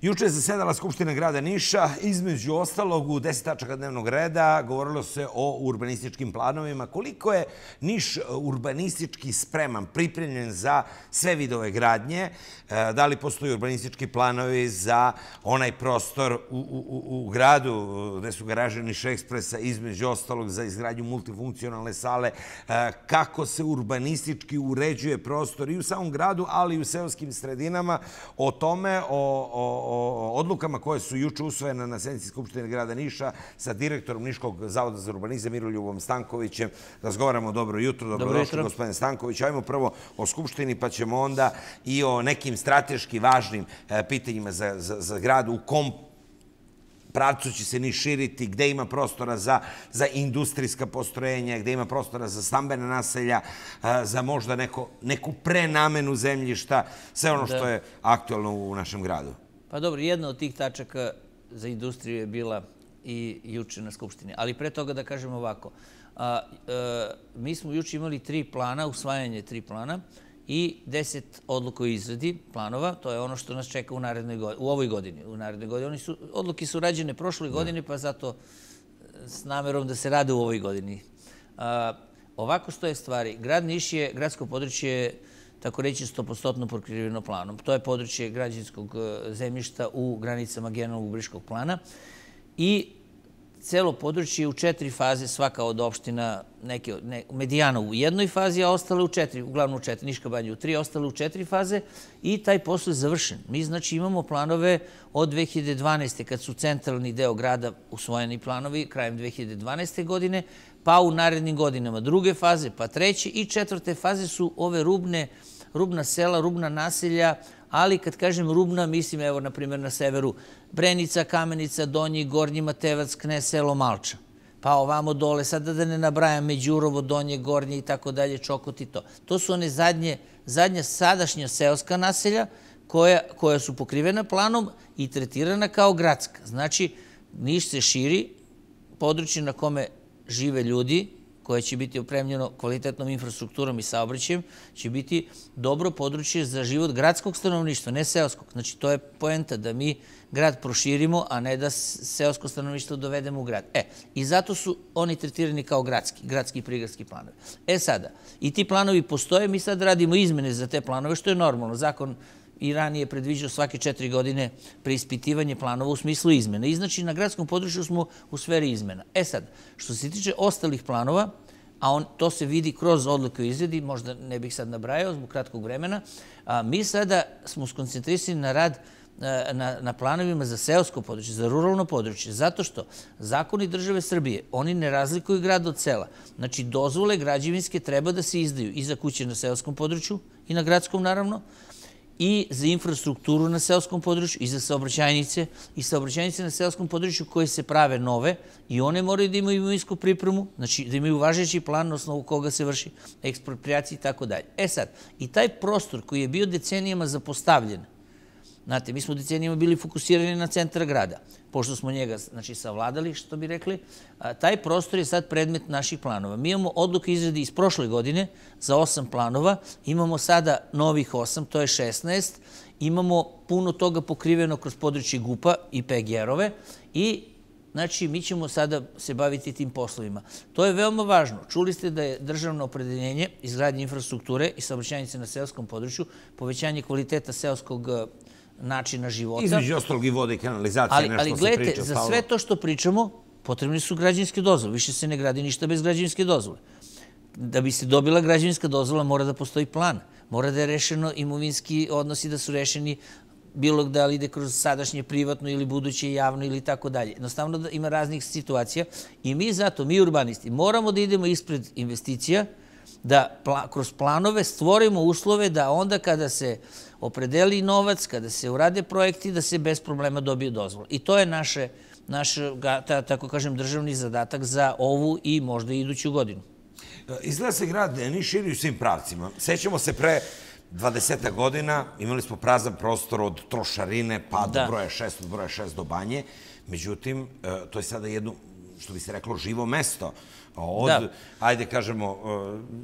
Juče je zasedala Skupština grada Niša. Između ostalog, u 10 tačaka dnevnog reda govorilo se o urbanističkim planovima. Koliko je Niš urbanistički spreman, pripremljen za sve vidove gradnje? Da li postoji urbanistički planovi za onaj prostor u gradu gde su garaže Niša Ekspresa, između ostalog za izgradnju multifunkcionalne sale? Kako se urbanistički uređuje prostor i u samom gradu, ali i u seoskim sredinama? O tome, o odlukama koje su juče usvojene na sednici Skupštine grada Niša sa direktorom Niškog zavoda za urbanizam Miroljubom Stankovićem. Razgovaramo. Dobro jutro. Dobrodošli, gospodine Stanković. Ajmo prvo o Skupštini, pa ćemo onda i o nekim strateški važnim pitanjima za grad. U kom pravcu će se Niš širiti, gde ima prostora za industrijska postrojenja, gde ima prostora za stambena naselja, za možda neku prenamenu zemljišta, sve ono što je aktualno u našem gradu. Pa dobro, jedna od tih tačaka za industriju je bila i juče na Skupštini. Ali pre toga da kažem ovako. Mi smo juče imali 3 plana, usvajanje 3 plana i 10 odluka o izradi planova. To je ono što nas čeka u ovoj godini. U narednoj godini. Odluke su rađene prošle godine, pa zato s namerom da se rade u ovoj godini. Ovako stoje stvari. Grad Niš je, gradsko područje, tako reći, 100% pokriveno planom. To je područje građevinskog zemljišta u granicama generalnog urbanističkog plana i celo područje je u 4 faze, svaka od opština, Medijana u jednoj fazi, a ostale u 4, uglavnom u 4, Niška banja u 3, ostale u 4 faze i taj posao je završen. Mi znači imamo planove od 2012. kad su centralni deo grada usvojeni planovi krajem 2012. godine, pa u narednim godinama druge faze, pa treće i 4. faze su ove rubna sela, rubna naselja, ali kad kažem rubna, mislim, evo, na primjer, na severu Brenica, Kamenica, Donji, Gornji Matejevac, Knez, selo Malča. Pa ovamo dole, sada da ne nabrajam, Međurovo, Donje, Gornje i tako dalje, Čokot i to. To su one zadnja sadašnja seoska naselja koja su pokrivena planom i tretirana kao gradska. Znači, Niš se širi, područje na kome žive ljudi, koje će biti opremljeno kvalitetnom infrastrukturom i saobraćajem, će biti dobro područje za život gradskog stanovništva, ne seoskog. Znači, to je poenta da mi grad proširimo, a ne da seosko stanovništvo dovedemo u grad. I zato su oni tretirani kao gradski i prigradski planovi. Sada, i ti planovi postoje, mi sad radimo izmene za te planove, što je normalno. Zakon i ranije predviđao svake 4 godine preispitivanje planova u smislu izmena. I znači na gradskom području smo u sferi izmena. Sad, što se tiče ostalih planova, a to se vidi kroz odluke o izradi, možda ne bih sad nabrajao zbog kratkog vremena, mi sada smo skoncentrisani na rad na planovima za seosko područje, za ruralno područje, zato što zakoni države Srbije, oni ne razlikuju grad od sela. Znači, dozvole građevinske treba da se izdaju i za kuće na seoskom području i na gradskom, naravno, i za infrastrukturu na seoskom području, i za saobraćajnice, i saobraćajnice na seoskom području koje se prave nove i one moraju da imaju imovinsku pripremu, znači da imaju važeći plan na osnovu koga se vrši eksproprijacija i tako dalje. Sad, i taj prostor koji je bio decenijama zapostavljen, znate, mi smo decenijama bili fokusirani na centar grada, pošto smo njega, znači, savladali, što bi rekli, taj prostor je sad predmet naših planova. Mi imamo odluke izradi iz prošle godine za 8 planova, imamo sada novih 8, to je 16, imamo puno toga pokriveno kroz područje GUP-a i PGR-ove i, znači, mi ćemo sada se baviti tim poslovima. To je veoma važno. Čuli ste da je državno opredeljenje izgradnje infrastrukture i saobraćajnice na seoskom području, povećanje kvaliteta seoskog načina života. Između ostalog i vode i kanalizacije, nešto se priča. Ali gledajte, za sve to što pričamo, potrebni su građevinske dozvole. Više se ne gradi ništa bez građevinske dozvole. Da bi se dobila građevinska dozvola, mora da postoji plan. Mora da je rešeno imovinski odnosi, da su rešeni bilo da li ide kroz sadašnje privatno ili buduće javno ili tako dalje. Jednostavno da ima raznih situacija i mi zato, mi urbanisti, moramo da idemo ispred investicija, da kroz planove stvorimo uslove da onda kada se opredeli novac, kada se urade projekti, da se bez problema dobije dozvola. I to je naš, tako kažem, državni zadatak za ovu i možda i iduću godinu. Izgleda se grad Niš širi u svim pravcima. Sećamo se pre 20 godina, imali smo prazan prostor od Trošarine pa do broja 6, od broja 6 do Banje. Međutim, to je sada jedno, što bi se reklo, živo mesto. Od, ajde kažemo,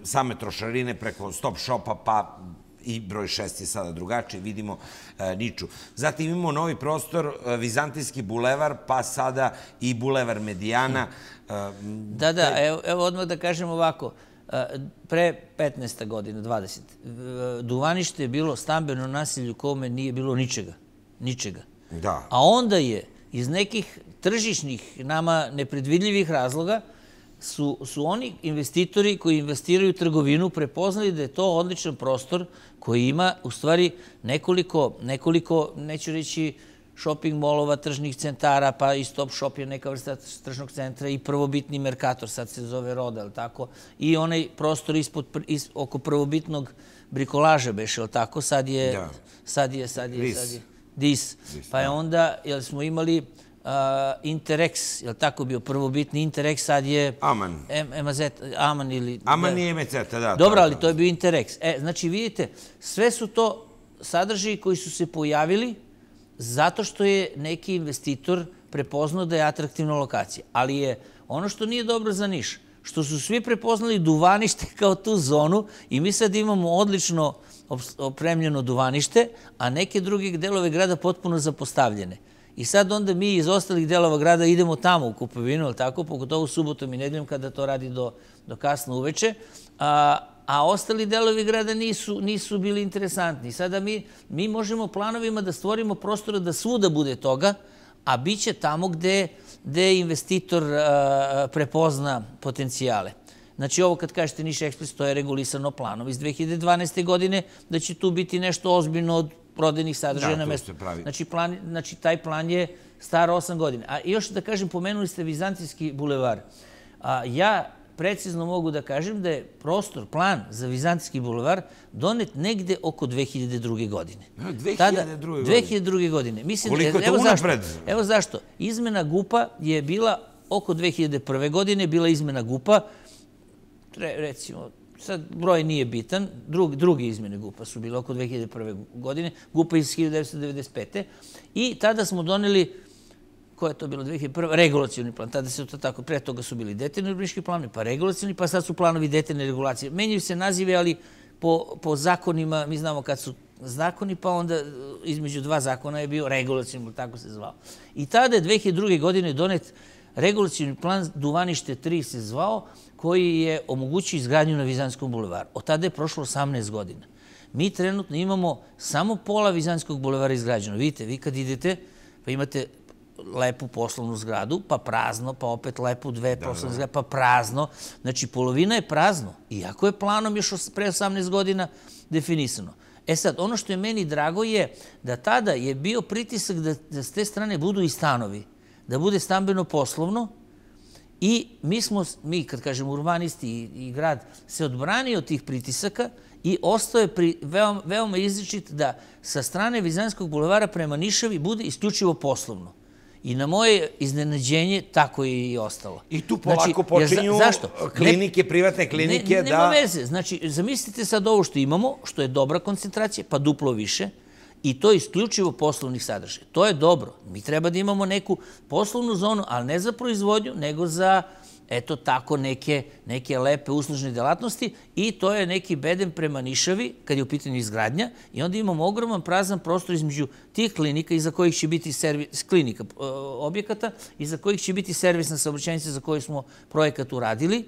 same Trošarine preko Stop Shopa pa i broj 6 je sada drugačiji, vidimo Niču. Zatim imamo novi prostor, Vizantijski bulevar, pa sada i bulevar Medijana. Da, evo odmah da kažem ovako. Pre 15. godina, 20. Duvanište je bilo stambeno naselje u kome nije bilo ničega. Da. A onda je iz nekih tržišnih, nama nepredvidljivih razloga su oni investitori koji investiraju u trgovinu prepoznali da je to odličan prostor koji ima u stvari nekoliko, neću reći, shopping molova, tržnih centara, pa i Stop Shop je neka vrsta tržnog centra i prvobitni Mercator, sad se zove Roda, ali tako? I onaj prostor oko prvobitnog brikolaža beše, ali tako? Sad je Dis. Pa je onda, jel smo imali Interex, je li tako bio prvobitni Interex, sad je Aman ili... Aman je MZ, da. Dobro, ali to je bio Interex. Znači, vidite, sve su to sadržaji koji su se pojavili zato što je neki investitor prepoznao da je atraktivna lokacija. Ali je ono što nije dobro za Niš, što su svi prepoznali Duvanište kao tu zonu i mi sad imamo odlično opremljeno Duvanište, a neke druge delove grada potpuno zapostavljene. I sad onda mi iz ostalih delova grada idemo tamo u kupovinu, ali tako, pogotovo subotom i nedeljom kada to radi do kasno uveče, a ostali delovi grada nisu bili interesantni. Sada mi možemo planovima da stvorimo prostora da svuda bude toga, a bit će tamo gde investitor prepozna potencijale. Znači, ovo kad kažete Niš Ekspres, to je regulisano planom iz 2012. godine, da će tu biti nešto ozbiljno od prodajnih sadržaja na mestu. Znači, taj plan je star 8 godina. A još da kažem, pomenuli ste Vizantijski bulevar. Ja precizno mogu da kažem da je prostor, plan za Vizantijski bulevar donet negde oko 2002. godine. 2002. godine. Koliko je to unapred? Evo zašto. Izmena GUP-a je bila oko 2001. godine, bila izmena GUP-a, recimo, sad broj nije bitan, druge izmene GUP-a su bile oko 2001. godine, GUP-a iz 1995. I tada smo doneli, ko je to bilo 2001. regulacioni plan, tada se to tako, pre toga su bili detaljni urbanistički planovi, pa regulacioni, pa sad su planovi detaljne regulacije. Menjaju se nazive, ali po zakonima, mi znamo kad su zakoni, pa onda između dva zakona je bio regulacioni, tako se zvao. I tada je 2002. godine donet regulacioni plan Duvanište 3 se zvao, koji je omogućio izgradnju na Vizantijskom bulevaru. Od tada je prošlo 18 godina. Mi trenutno imamo samo pola Vizantijskog bulevara izgrađeno. Vidite, vi kad idete, pa imate lepu poslovnu zgradu, pa prazno, pa opet lepu dve poslovne zgrade, pa prazno. Znači, polovina je prazno. Iako je planom još pre 18 godina definisano. Sad, ono što je meni drago je da tada je bio pritisak da s te strane budu i stanovi, da bude stambeno-poslovno. I mi, kad kažemo urbanisti i grad, se odbranio od tih pritisaka i ostao je veoma izričit da sa strane Vizantijskog bulevara prema Nišavi bude isključivo poslovno. I na moje iznenađenje tako je i ostalo. I tu polako počinju klinike, privatne klinike da... Nema veze. Znači, zamislite sad ovo što imamo, što je dobra koncentracija, pa duplo više, i to je isključivo poslovnih sadržaja. To je dobro. Mi treba da imamo neku poslovnu zonu, ali ne za proizvodnju, nego za, eto tako, neke lepe uslužne delatnosti i to je neki bedem prema Nišavi, kad je u pitanju izgradnja, i onda imamo ogroman prazan prostor između tih klinika iza kojih će biti klinika objekata, iza kojih će biti servisna saobraćajnica za koju smo projekat uradili,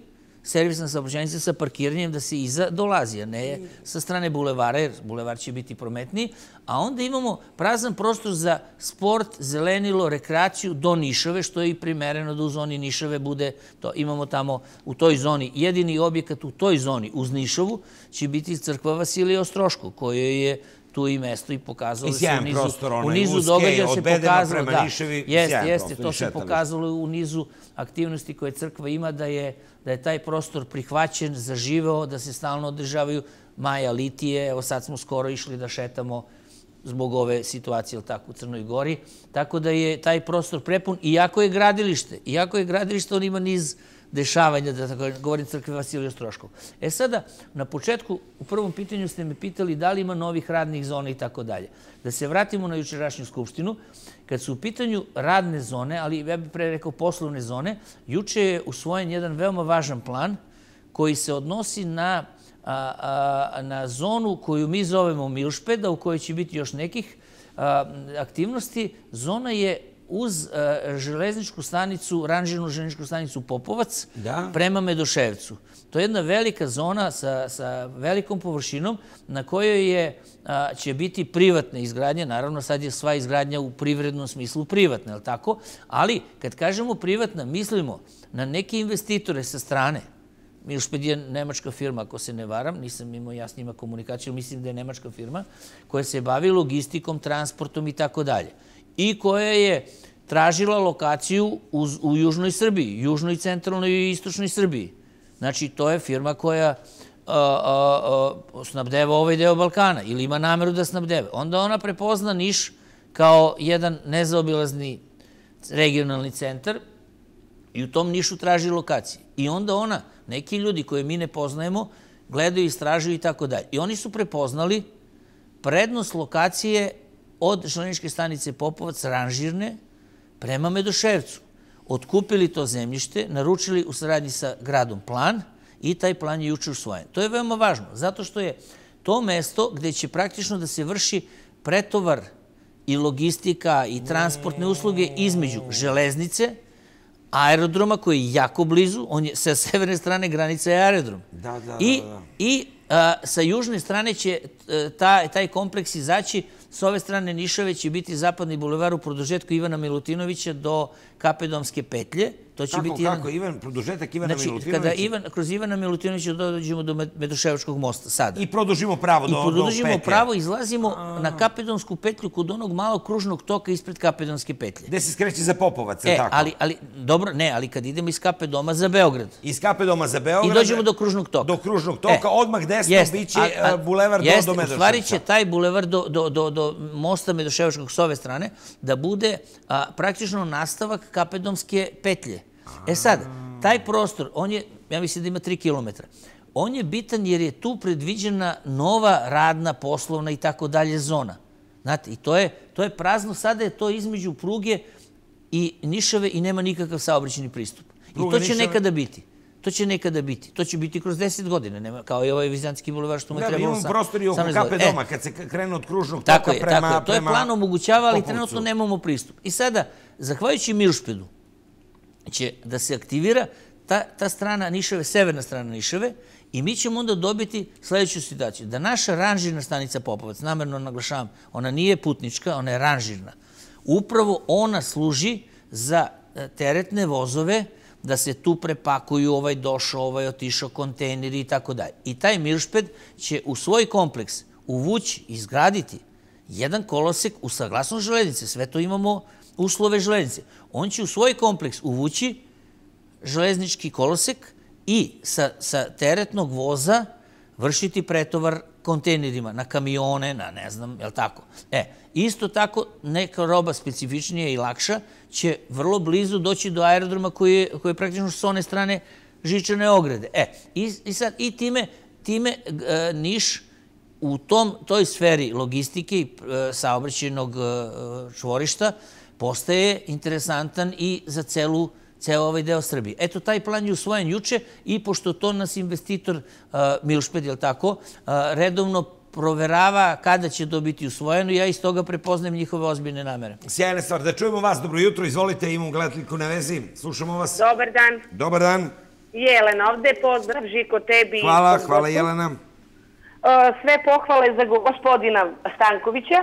servisna saobraćajnica sa parkiranjem da se iza dolazi, a ne sa strane bulevara, jer bulevar će biti prometniji. A onda imamo prazan prostor za sport, zelenilo, rekreaciju do Nišave, što je i primereno da u zoni Nišave bude to. Imamo tamo u toj zoni, jedini objekat u toj zoni uz Nišavu će biti crkva Vasilija Ostroškog, koje je tu i mesto i pokazalo se u nizu događaja se pokazalo, da, jeste, to se pokazalo u nizu aktivnosti koje crkva ima, da je taj prostor prihvaćen, zaživeo, da se stalno održavaju Maja Litije. Evo sad smo skoro išli da šetamo zbog ove situacije u Crnoj Gori. Tako da je taj prostor prepun, iako je gradilište, on ima niz dešavanja, da tako govorim, crkve Vasilija Ostroškog. Sada, na početku, u prvom pitanju ste me pitali da li ima novih radnih zona i tako dalje. Da se vratimo na jučerašnju skupštinu, kad su u pitanju radne zone, ali ja bih pre rekao poslovne zone, juče je usvojen jedan veoma važan plan koji se odnosi na na zonu koju mi zovemo Milšpeda, u kojoj će biti još nekih aktivnosti. Zona je uz železničku stanicu, ranžirnu železničku stanicu Popovac prema Medoševcu. To je jedna velika zona sa velikom površinom na kojoj će biti privatne izgradnje. Naravno, sad je sva izgradnja u privrednom smislu privatna, je li tako? Ali, kad kažemo privatna, mislimo na neke investitore sa strane. Milšped je nemačka firma, ako se ne varam, nisam imao ja s njima komunikaciju, mislim da je nemačka firma koja se bavi logistikom, transportom i tako dalje. I koja je tražila lokaciju u južnoj Srbiji, južnoj, centralnoj i istočnoj Srbiji. Znači, to je firma koja snabdeva ovaj deo Balkana ili ima nameru da snabdeva. Onda ona prepozna Niš kao jedan nezaobilazni regionalni centar i u tom Nišu traži lokacije. I onda ona, neki ljudi koje mi ne poznajemo, gledaju, istražuju i tako dalje. I oni su prepoznali prednost lokacije od železničke stanice Popovac, ranžirne, prema Medoševcu. Otkupili to zemljište, naručili u saradnji sa gradom plan i taj plan je juče usvojen. To je veoma važno, zato što je to mesto gde će praktično da se vrši pretovar i logistika i transportne usluge između železnice, aerodroma koji je jako blizu, on je sa severne strane granice je aerodrom. I sa južne strane će taj kompleks izaći. S ove strane Nišave će biti zapadni bulevar u produžetku Ivana Milutinovića do Kapedomske petlje. Kako? Produžetak Ivana Milutinovića? Kada kroz Ivana Milutinovića dođemo do Medoševačkog mosta sada. I produžimo pravo do petlje. I produžimo pravo, izlazimo na Kapedonsku petlju kod onog malog kružnog toka ispred Kapedonske petlje. Gde se skreće za Popovac, je tako? Dobro, ne, ali kad idemo iz Kapedoma za Beograd. Iz Kapedoma za Beograd. I dođemo do kružnog toka. Do kružnog toka, odmah desno biće bulevar do Medoševca. U stvari će taj bulevar do mosta Medoševačkog s ove strane da bude praktično nastavak Kapedomske petlje. E sad, taj prostor, on je, ja mislim da ima 3 kilometra, on je bitan jer je tu predviđena nova radna, poslovna i tako dalje zona. Znate, i to je prazno, sada je to između pruge i Nišave i nema nikakav saobraćajni pristup. I to će nekada biti. To će nekada biti. To će biti kroz 10 godina, kao i ovaj Vizantski bulevar što mu je trebalo sam. Da, imamo prostor i oko Kapedoma, kad se krene od kružnog toka prema Popovcu. To je plan omogućava, ali trenutno nemamo pristup. I sada, zahvaljujući Milšpedu, će da se aktivira ta strana Nišave, severna strana Nišave, i mi ćemo onda dobiti sledeću situaciju. Da naša ranžirna stanica Popovac, namerno naglašavam, ona nije putnička, ona je ranžirna. Upravo ona služi za teretne vozove, da se tu prepakuju ovaj došao, ovaj otišao, kontejneri i tako dalje. I taj Milšped će u svoj kompleks uvući, izgraditi jedan kolosek u saglasnost železnice. Sve to imamo uslove železnice. On će u svoj kompleks uvući železnički kolosek i sa teretnog voza vršiti pretovar kontejnerima na kamione, na ne znam, je li tako? Isto tako, neka roba specifičnija i lakša će vrlo blizu doći do aerodroma koji je praktično s one strane žičane ograde. I time Niš u toj sferi logistike i saobraćajnog čvorišta postaje interesantan i za ceo ovaj deo Srbije. Eto, taj plan je usvojen juče i pošto to nas investitor Milšped, je li tako, redovno proverava kada će to biti usvojeno, ja iz toga prepoznajem njihove ozbiljne namere. Sjajna stvar. Da čujemo vas. Dobro jutro. Izvolite, imamo gledateljku na vezi. Slušamo vas. Dobar dan. Dobar dan. Jelena ovde. Pozdrav, Žiko, tebi. Hvala Jelena. Sve pohvale za gospodina Stankovića.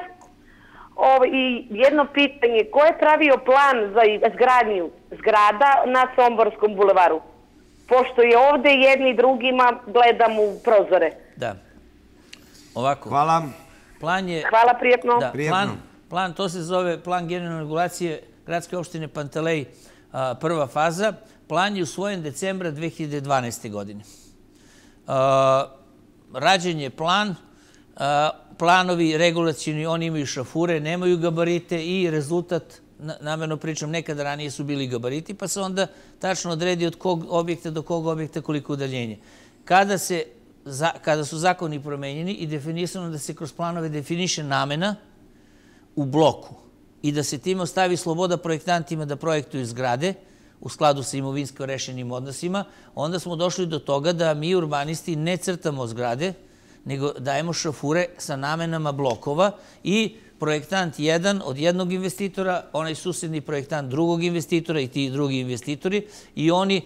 I jedno pitanje, ko je pravio plan za izgradnju zgrada na Somborskom bulevaru? Pošto je ovde jedni drugima gledam u prozore. Da. Ovako. Hvala. Hvala, prijetno. Plan, to se zove plan generalne regulacije gradske opštine Pantelej, prva faza. Plan je usvojen decembra 2012. godine. Rađen je plan, planovi regulacijni, oni imaju šafure, nemaju gabarite i rezultat, namerno pričam, nekada ranije su bili gabariti, pa se onda tačno odredi od kog objekta do kog objekta koliko udaljenje. Kada su zakoni promenjeni i definisano da se kroz planove definiše namena u bloku i da se time ostavi sloboda projektantima da projektuju zgrade, u skladu sa imovinsko rešenim odnosima, onda smo došli do toga da mi urbanisti ne crtamo zgrade, nego dajemo šrafure sa namenama blokova i projektant jedan od jednog investitora, onaj susedni projektant drugog investitora i ti drugi investitori i oni,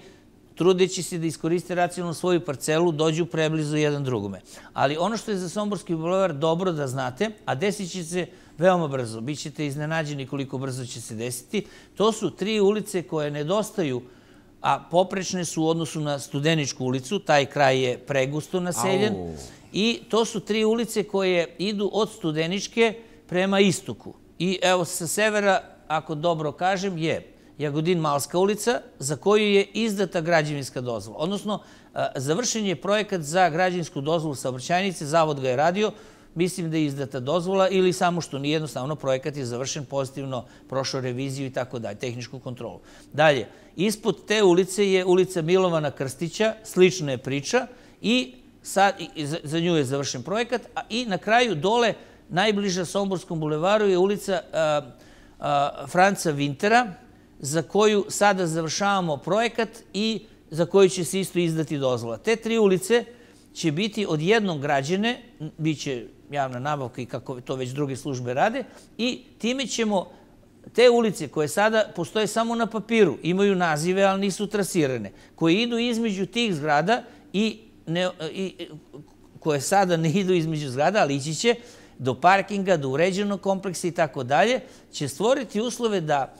trudeći se da iskoriste racionalno svoju parcelu, dođu preblizu jedan drugome. Ali ono što je za Somborski bulevar dobro da znate, a desit će se veoma brzo, bit ćete iznenađeni koliko brzo će se desiti, to su 3 ulice koje nedostaju, a poprečne su u odnosu na Studeničku ulicu, taj kraj je pregusto naseljen, i to su 3 ulice koje idu od Studeničke prema istoku. I evo sa severa, ako dobro kažem, je Jagodin-Malska ulica, za koju je izdata građevinska dozvola. Odnosno, završen je projekat za građevinsku dozvolu saobraćajnice, zavod ga je radio, mislim da je izdata dozvola ili samo što nije, jednostavno projekat je završen pozitivno, prošao reviziju i tako dalje, tehničku kontrolu. Dalje, ispod te ulice je ulica Milovana Krstića, slična je priča i za nju je završen projekat, i na kraju dole, najbliža Somborskom bulevaru, je ulica Franca Vintera, za koju sada završavamo projekat i za koju će se isto izdati dozvola. Te 3 ulice će biti od jednog građene, bit će javna nabavka i kako to već druge službe rade, i time ćemo te ulice koje sada postoje samo na papiru, imaju nazive, ali nisu trasirane, koje idu između tih zgrada i koje sada ne idu između zgrada, ali ići će do parkinga, do uređenog kompleksa i tako dalje, će stvoriti uslove da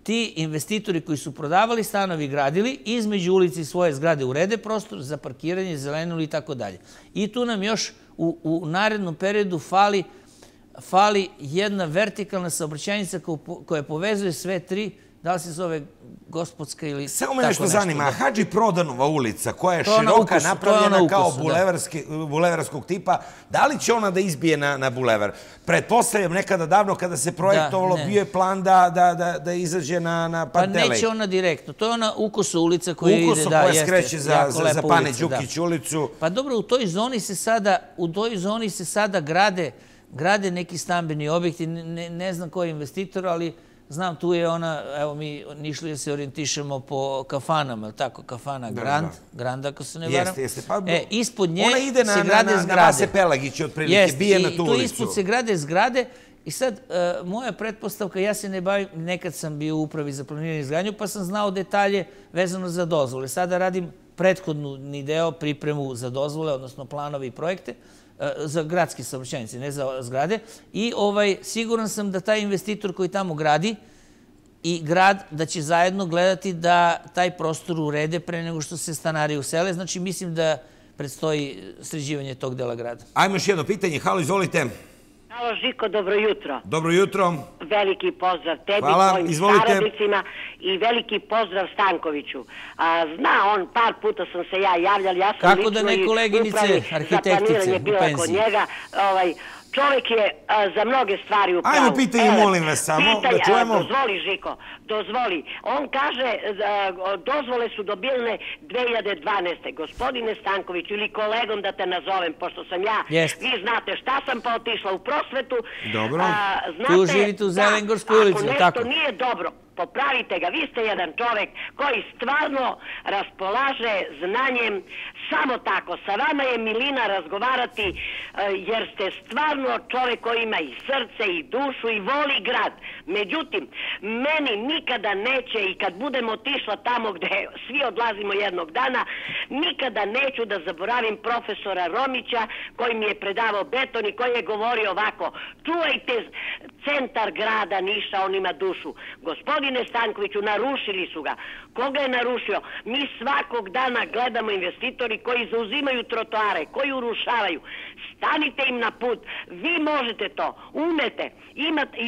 ti investitori koji su prodavali stanovi, gradili, između ulici i svoje zgrade urede prostor za parkiranje, zelenilo i tako dalje. I tu nam još u narednom periodu fali jedna vertikalna saobraćajnica koja povezuje sve 3, da li se zove Gospodska ili... Samo me nešto zanima, Hadži Prodanova ulica, koja je široka, napravljena kao bulevarskog tipa, da li će ona da izbije na bulevar? Pretpostavljam, nekada davno kada se projektovalo, bio je plan da izađe na Pantelej. Pa neće ona direktno, to je ona Ukoso ulica koja ide, Ukoso koja skreće za Pane Đukić ulicu. Pa dobro, u toj zoni se sada grade neki stambeni objekti, ne znam ko je investitor, ali znam, tu je ona, evo mi Nišlije se orijentišemo po kafanama, tako, kafana Grand, ako se ne varam. Jeste. Ispod nje ona ide se grade zgrade. na Vase Pelagića, otprilike, bije na tu ulicu. Tu ispod se grade zgrade i sad, moja pretpostavka, ja se ne bavim, nekad sam bio u upravi za planiranje i izgradnju, pa sam znao detalje vezano za dozvole. Sada radim prethodni deo, pripremu za dozvole, odnosno planove i projekte, za gradske saobraćajnice, ne za zgrade. I siguran sam da taj investitor koji tamo gradi i grad, da će zajedno gledati da taj prostor urede pre nego što se stanari usele. Znači, mislim da predstoji sređivanje tog dela grada. Ajmo još jedno pitanje. Halo, izvolite. Halo, Žiko, dobro jutro. Dobro jutro. Veliki pozdrav tebi, tvojim saradnicima i veliki pozdrav Stankoviću. Zna on, par puta sam se ja javljala, ja sam kako da ne koleginice, arhitektice u penziji. Čovjek je za mnoge stvari u pravu. Ajmo pitanje, molim vas samo, da čujemo. Dozvoli, Žiko, dozvoli. On kaže, dozvole su dobile 2012. Gospodine Stankoviću, ili kolegom da te nazovem, pošto sam ja, vi znate šta sam pa otišla u prosvetu. Dobro. Tu živite u Zelengorskoj ulici, tako? Ako nešto nije dobro, popravite ga. Vi ste jedan čovjek koji stvarno raspolaže znanjem. Samo tako. Sa vama je milina razgovarati jer ste stvarno čovjek koji ima i srce i dušu i voli grad. Međutim, meni nikada neće, i kad budem otišla tamo gde svi odlazimo jednog dana, nikada neću da zaboravim profesora Romića koji mi je predavao beton i koji je govorio ovako: čuvajte centar grada Niša, on ima dušu. Gospodine Stankoviću, narušili su ga. Koga je narušio? Mi svakog dana gledamo investitori koji zauzimaju trotoare, koji urušavaju. Stanite im na put. Vi možete to, umete,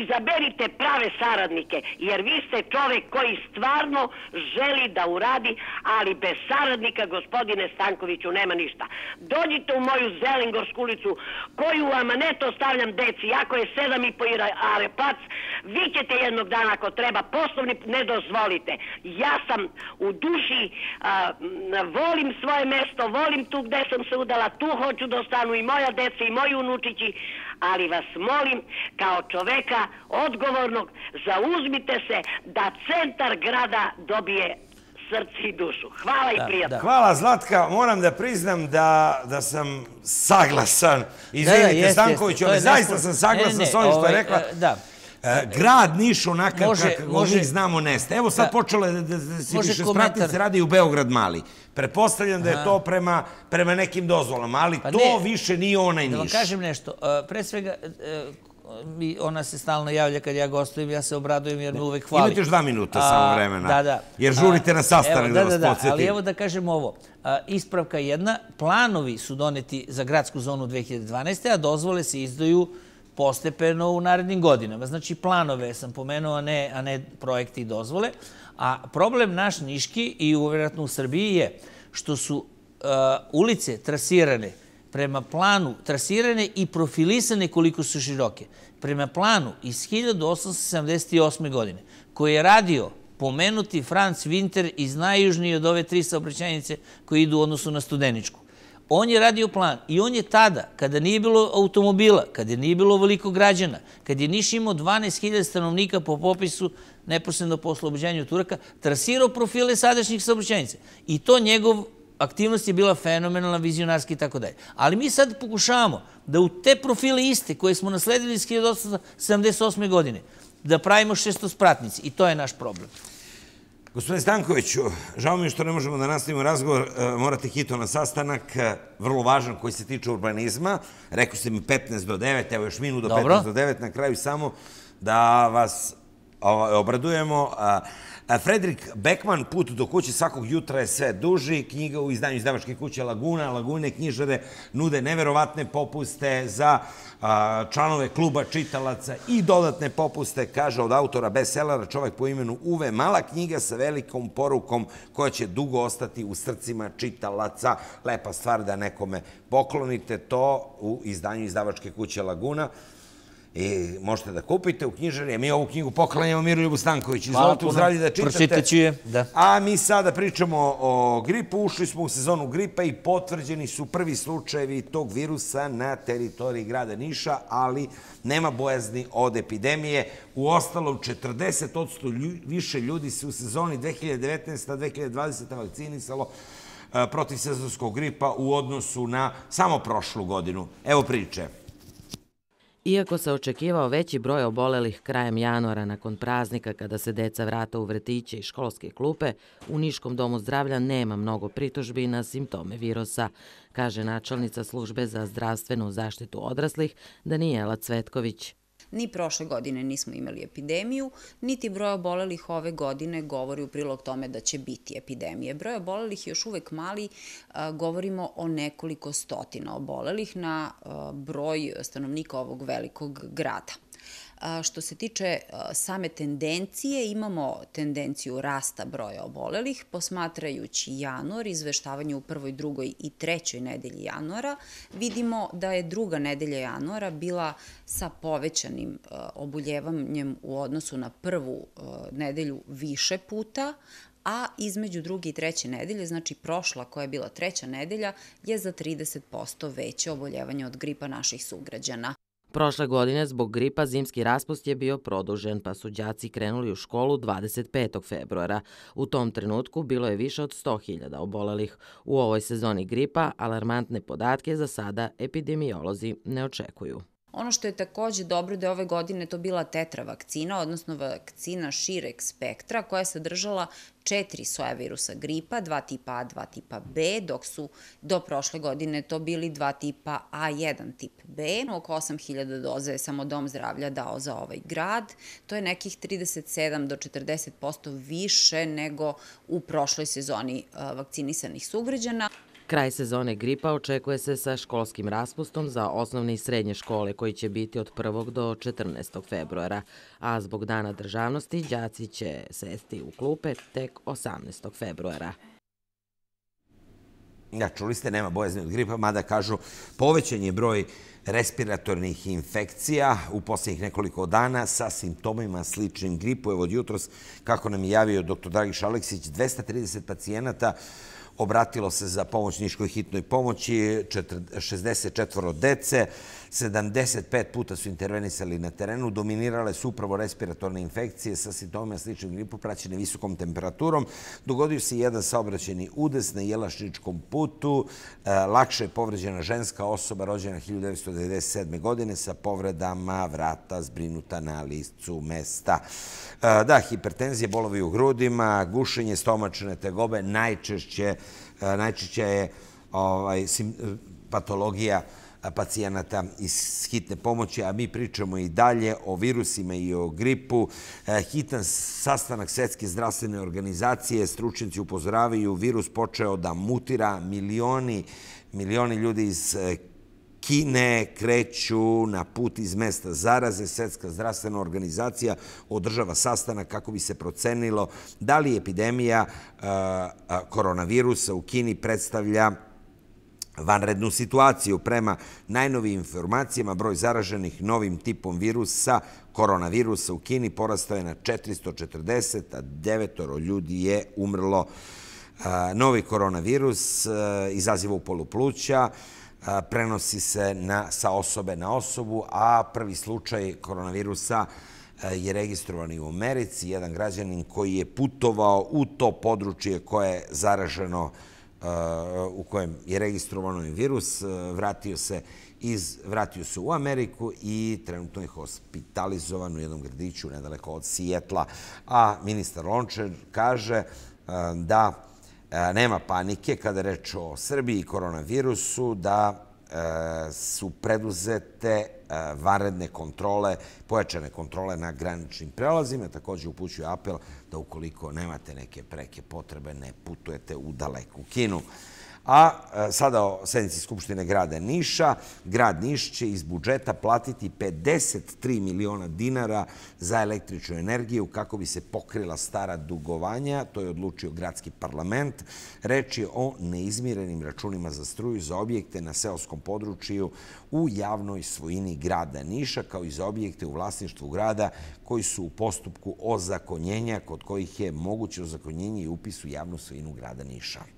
izaberite prave saradnike, jer vi ste čovjek koji stvarno želi da uradi, ali bez saradnika, gospodine Stankoviću, nema ništa. Dođite u moju Zelengorsku ulicu, koju amaneto stavljam deci, ako je 7,5 are plac, vi ćete jednog dana, ako treba, po osnovni, ne dozvolite. Ja sam u duši, volim svoje mesto, volim tu gde sam se udala, tu hoću da ostanu i moja deca i moji unučići, ali vas molim, kao čoveka odgovornog, zauzmite se da centar grada dobije srce i dušu. Hvala i prijatno. Hvala, Zlatka. Moram da priznam da sam saglasan. Izvinite, Stankoviću, ali zaista sam saglasan s ovim što je rekla. Grad Niš onakav kako mi znamo neste. Evo sad počelo da se više spratnice radi u Beograd mali. Pretpostavljam da je to prema nekim dozvolama, ali to više nije onaj Niš. Da vam kažem nešto. Pre svega, ona se stalno javlja kad ja gostujem, ja se obradujem jer me uvek hvali. Imate još 2 minuta samo vremena, jer žurite na sastanak da vas podsjetim. Ali evo da kažem ovo. Ispravka jedna, planovi su doneti za gradsku zonu 2012. a dozvole se izdaju postepeno u narednim godinama. Znači, planove sam pomenuo, a ne projekte i dozvole. A problem naš niški i vjerojatno u Srbiji je što su ulice trasirane prema planu, trasirane i profilisane koliko su široke. Prema planu iz 1878. godine, koji je radio pomenuti Franz Winter iz najjužnije od ove 3 saobraćajnice koje idu u odnosu na Studeničku. On je radio plan i on je tada, kada nije bilo automobila, kada nije bilo veliko građana, kad je Niš imao 12.000 stanovnika po popisu neposredno po oslobođenju Turaka, trasirao profile sadašnjih saobraćajnica. I to njegov aktivnost je bila fenomenalna, vizionarska i tako dalje. Ali mi sad pokušavamo da u te profile iste koje smo nasledili iz 1878. godine da pravimo šestospratnici i to je naš problem. Gospodine Stankoviću, žao mi je što ne možemo da nastavimo razgovor, morate hitno na sastanak, vrlo važan koji se tiče urbanizma. Rekao ste mi 15 do 9, evo još minut do 15 do 9, na kraju samo da vas obradujemo. Fredrik Beckman, Put do kuće svakog jutra je sve duži. Knjiga u izdanju izdavačke kuće Laguna. Lagune knjižare nude neverovatne popuste za članove kluba čitalaca i dodatne popuste, kaže od autora bestsellera, čovek po imenu Uve. Mala knjiga sa velikom porukom koja će dugo ostati u srcima čitalaca. Lepa stvar da nekome poklonite to u izdanju izdavačke kuće Laguna. I možete da kupite u knjižari. Mi ovu knjigu poklanjamo Miroljubu Stanković. Izvolite u zdravlje da čitate. Pročitaću je, da. A mi sada pričamo o gripu. Ušli smo u sezonu gripa i potvrđeni su prvi slučajevi tog virusa na teritoriji grada Niša, ali nema bojazni od epidemije. U ostalom, 40% više ljudi se u sezoni 2019-2020 vakcinisalo protiv sezonskog gripa u odnosu na samo prošlu godinu. Evo priče. Iako se očekivao veći broj obolelih krajem januara nakon praznika kada se deca vrata u vrtiće i školske klupe, u Niškom domu zdravlja nema mnogo pritužbi na simptome virusa, kaže načelnica službe za zdravstvenu zaštitu odraslih Danijela Cvetković. Ni prošle godine nismo imali epidemiju, niti broj obolelih ove godine govori u prilog tome da će biti epidemije. Broj obolelih je još uvek mali, govorimo o nekoliko stotina obolelih na broj stanovnika ovog velikog grada. Što se tiče same tendencije, imamo tendenciju rasta broja obolelih. Posmatrajući januar, izveštavanje u prvoj, drugoj i trećoj nedelji januara, vidimo da je druga nedelja januara bila sa povećanim oboljevanjem u odnosu na prvu nedelju više puta, a između druge i treće nedelje, znači prošla koja je bila treća nedelja, je za 30% veće oboljevanje od gripa naših sugrađana. Prošle godine zbog gripa zimski raspust je bio produžen, pa su đaci krenuli u školu 25. februara. U tom trenutku bilo je više od 100.000 obolelih. U ovoj sezoni gripa alarmantne podatke za sada epidemiolozi ne očekuju. Ono što je takođe dobro da je ove godine to bila tetra vakcina, odnosno vakcina šireg spektra koja je sadržala 4 soja virusa gripa, 2 tipa A, 2 tipa B, dok su do prošle godine to bili 2 tipa A, 1 tip B. Oko 8.000 doza je samo Dom zdravlja dao za ovaj grad. To je nekih 37 do 40% više nego u prošloj sezoni vakcinisanih sugrađana. Kraj sezone gripa očekuje se sa školskim raspustom za osnovne i srednje škole koji će biti od 1. do 14. februara, a zbog Dana državnosti đaci će sesti u klupe tek 18. februara. Čuli ste, nema bojazni od gripa, mada kažu povećan je broj respiratornih infekcija u posljednjih nekoliko dana sa simptomima sličnim gripu. Evo od jutros, kako nam je javio dr. Dragiš Aleksić, 230 pacijenata obratilo se za pomoć Niškoj hitnoj pomoći, 64 dece, 75 puta su intervenisali na terenu, dominirale su upravo respiratorne infekcije sa simptomima sličnim gripu praćene visokom temperaturom. Dogodio se jedan saobraćajni udes na Jelašničkom putu. Lakše je povređena ženska osoba rođena 1997. godine sa povredama vrata zbrinuta na licu mesta. Da, hipertenzija, bolovi u grudima, gušenje, stomačne tegobe, najčešće je patologija pacijenata iz hitne pomoći, a mi pričamo i dalje o virusima i o gripu. Hitan sastanak Svetske zdravstvene organizacije, stručnjaci upozoravaju, virus počeo da mutira, milioni ljudi iz Kine kreću na put iz mesta zaraze. Svetska zdravstvena organizacija održava sastanak kako bi se procenilo da li epidemija koronavirusa u Kini predstavlja vanrednu situaciju. Prema najnovijim informacijama, broj zaraženih novim tipom virusa, koronavirusa u Kini porastao je na 440, a 9 ljudi je umrlo. Novi koronavirus izaziva upalu pluća, prenosi se sa osobe na osobu, a prvi slučaj koronavirusa je registrovan i u Americi. Jedan građanin koji je putovao u to područje koje je zaraženo, u kojem je registrovano virus, vratio se u Ameriku i trenutno je hospitalizovan u jednom gradiću nedaleko od Sijetla. A ministar Lončar kaže da nema panike kada je reč o Srbiji i koronavirusu, da su preduzete vanredne kontrole, pojačane kontrole na graničnim prelazima. Također upućuje apel da ukoliko nemate neke preke potrebe, ne putujete u daleku Kinu. A sada o sednici Skupštine grada Niša. Grad Niš će iz budžeta platiti 53 miliona dinara za električnu energiju kako bi se pokrila stara dugovanja. To je odlučio gradski parlament. Reč je o neizmirenim računima za struju za objekte na seoskom području u javnoj svojini grada Niša, kao i za objekte u vlasništvu grada koji su u postupku ozakonjenja, kod kojih je moguće ozakonjenje i upis u javnu svojinu grada Niša.